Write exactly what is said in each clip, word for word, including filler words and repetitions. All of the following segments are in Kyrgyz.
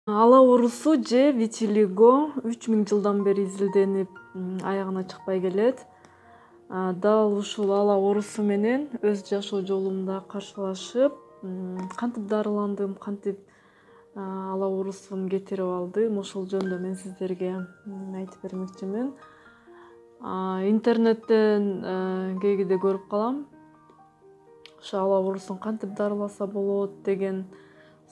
Ала оорусу же витилиго үч миң жылдан бери изилденип аягына чыкпай келет. Дал ушул ала оорусу менен өз жашоо жолумда каршылашып, кантип дарыландым, кантип ала оорусум кетирип алдым, ошол жөнүндө мен сиздерге айтып бермекчимин. Интернеттен кээде көрүп калам. Ошо ала оорусун кантип дарыласа болот деген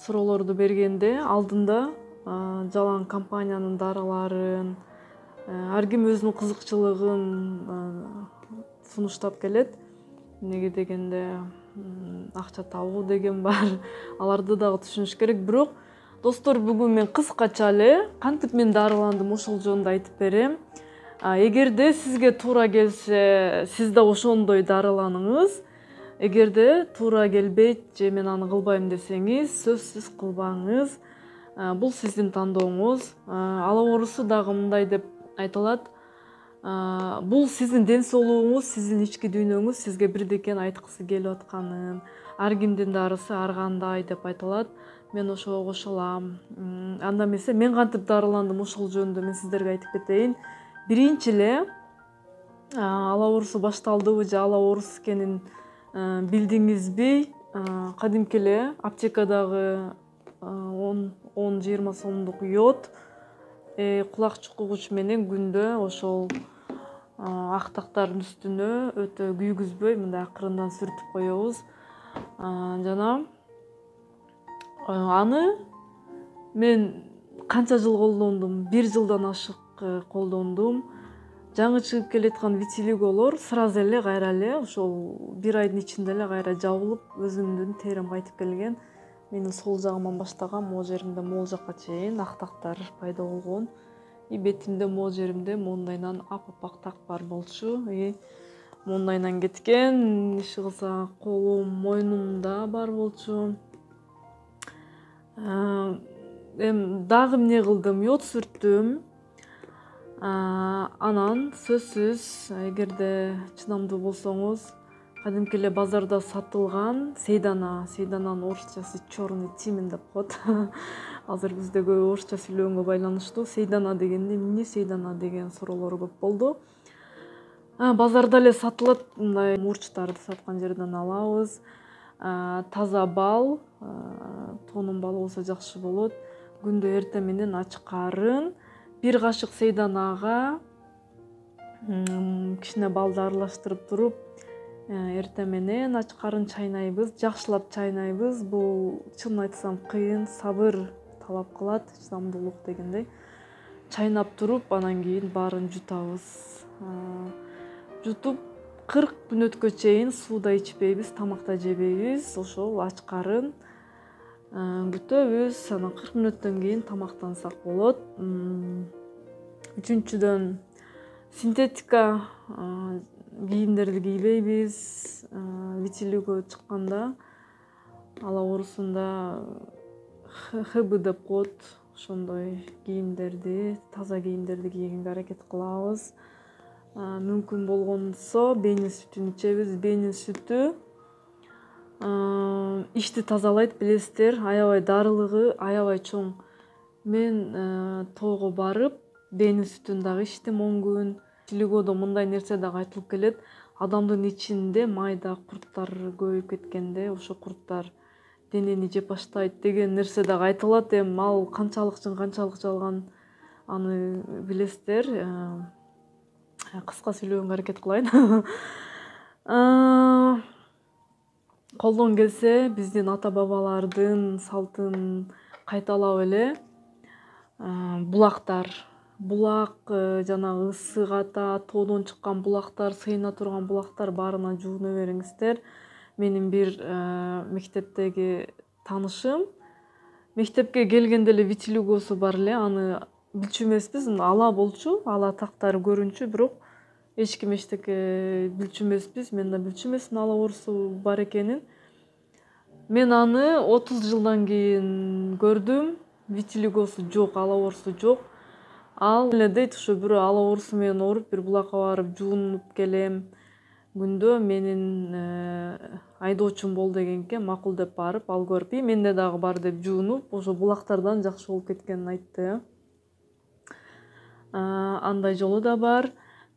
суроолорду бергенде алдында жалаң компаниянын дарыларын, ар ким өзүнүн кызыкчылыгын сунуштап келет. Эмнеге дегенде акча табуу деген бар. Аларды дагы түшүнүш керек. Бирок достор, бүгүн мен кыскача эле кантип мен дарыландым ошол жөнүндө айтып берем. Эгерде сизге туура келсе, сиз да ошондой дарыланыңыз. Эгерде туура келбейт же мен аны кылбайм десеңиз, сөзсүз кылбаңыз. Бул сиздин тандооңуз. Ала оорусу дагы мындай деп айтылат. Бул сиздин ден соолугуңуз, сиздин ички дүйнөңүз сизге бирдекени айткысы келип атканын. Ар кимдин дарысы ар кандай деп айтылат. Мен ошого кошулам. Анда эмесе мен кантип дарыландым ошол жөнүндө мен сиздерге айтып кетейин. Биринчи эле ала оорусу башталдыбы же ала оорус экенин билдиңизби? Кадимки эле аптекадагы он жыйырма сомдук йод, кулак чукугуч менен күндө ошол ак тактардын үстүнө өтө күйгүзбөй мындай акырындан сүртүп коебуз. Жана аны мен канча жыл колдондум? Бир жылдан ашык колдондум. Жаңы чыгып келаткан витилиголор сразу эле кайра эле ошол бир айдын ичинде эле кайра жабылып, өзүмдүн терим кайтып келген. Менин сол жагыман баштаган, могу жеримде могул жакка чейин ак тактар пайда болгон. И бетимде могу жеримде моундайынан ап-апак так бар болчу. И моундайынан кеткен, иши кылса колум, мойнумда бар болчу. Эми дагы эмне кылдым? Йод сүрттүм. Анан сөзсүз, эгерде чыдамдуу болсоңуз, кадимки эле базарда сатылган сейдана, сейдананын орусчасы черный тимин деп коет. Азыр бизде көп орусча сүйлөгөнгө байланыштуу сейдана дегенде эмне сейдана деген суроолор көп болду. Базарда эле сатылат, мындай мурчтарды саткан жерден алабыз. Таза бал, тоонун балы болсо жакшы болот. Күндө эртең менен ачкарын бир кашык сейданага кичине балды аралаштырып туруп, эртең менен ачкарын чайнайбыз, жакшылап чайнайбыз. Бул чынын айтсам кыйын, сабыр талап кылат, чыдамдуулук дегендей. Чайнап туруп, анан кийин баарын жутабыз. Жутуп кырк мүнөткө чейин суу да ичпейбиз, тамак да жебейбиз. Ошол ачкарын күтөбүз. Анан кырк мүнөттөн кийин тамактансак болот. Үчүнчүдөн, синтетика кийимдерди кийбейбиз. Витилиго чыкканда ала оорусунда ха бэ деп коет. Ошондой кийимдерди, таза кийимдерди кийгенге аракет кылабыз. Мүмкүн болгонсо бейнин сүтүн ичебиз. Бейнин сүтү ичти тазалайт, билесиздер. Аябай дарылыгы, аябай чоң. Мен тоого барып, бейнин сүтүн дагы ичтим он күн. Витилигодо мындай нерсе дагы айтылып келет. Адамдын ичинде майда курттар көбөйүп кеткенде, ошо курттар денени жеп баштайт деген нерсе дагы айтылат. Эми ал канчалык чын, канчалык жалган, аны билесиздер. Кыска сүйлөгөнгө аракет кылайын. Колдон келсе, биздин ата-бабалардын салтын кайталап эле булактар, булак, жанагы ысык ата, тоодон чыккан булактар, сыйына турган булактар баарына жууна бериңиздер. Менин бир мектептеги таанышым мектепке келгенде эле витилигосу бар эле, аны билчү эмеспиз, ала болчу, ала тактары көрүнчү, бирок эч ким эчтеке билчү эмеспиз. Мен да билчү эмесмин ала оорусу бар экенин. Мен аны отуз жылдан кийин көрдүм. Витилигосу жок, ала оорусу жок. Ал эле дейт, ушу бирөө ала оорусу менен ооруп, бир булакка барып жуунуп келем. күндө менин айдоочум бол дегенге макул деп барып ал көрүп, и менде дагы бар деп жуунуп, ошо булактардан жакшы болуп кеткенин айтты. Андай жолу да бар.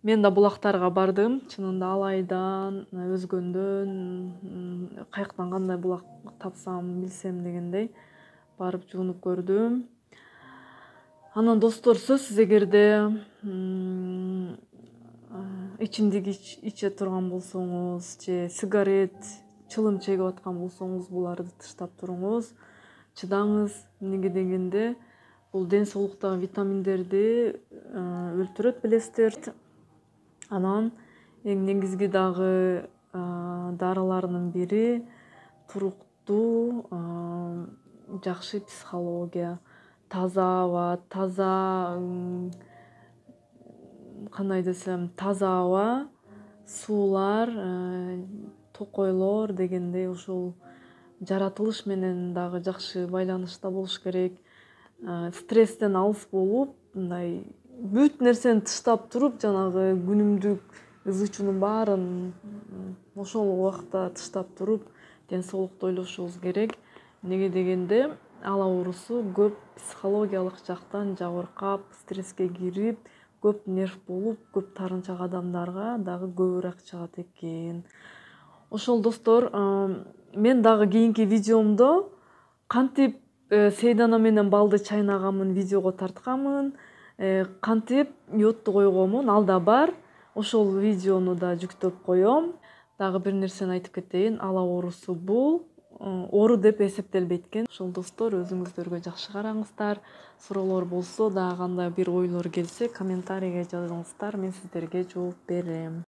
Мен да булактарга бардым. Чынында Алайдан, Өзгөндөн, каяктан кандай булак тапсам, билсем дегендей барып жуунуп көрдүм. Анан достор, сөзсүз эгерде ичимдик иче турган болсоңуз же сигарет, чылым чегип аткан болсоңуз, буларды тыштап туруңуз, чыдаңыз. Эмнеге дегенде бул ден соолуктагы витаминдерди өлтүрөт, билесиздер. Анан эң негизги дагы дарыларынын бири туруктуу, жакшы психология, таза аба, таза, кандай десем, таза аба, суулар, токойлор дегендей ушул жаратылыш менен дагы жакшы байланышта болуш керек. Стресстен алыс болуп, мындай бүт нерсени тыштап туруп, жанагы күнүмдүк ызы чуунун баарын ошол убакта тыштап туруп, ден соолукту ойлошубуз керек. Эмнеге дегенде ал оорусу көп психологиялык жактан жабыркап, стресске кирип, көп нерв болуп, көп таарынчак адамдарга дагы көбүрөөк чыгат экен. Ошол достор, мен дагы кийинки видеомдо кантип сейдана менен балды чайнагамын видеого тартканмын, кантип йодду койгонмун, ал да бар. Ошол видеону да жүктөп коем. Дагы бир нерсени айтып кетейин, ала оорусу бул оору деп эсептелбейт экен. Ошол достор, өзүңүздөргө жакшы караңыздар. Суроолор болсо, дагы кандай бир ойлор келсе, комментарийге жазыңыздар, мен сиздерге жооп берем.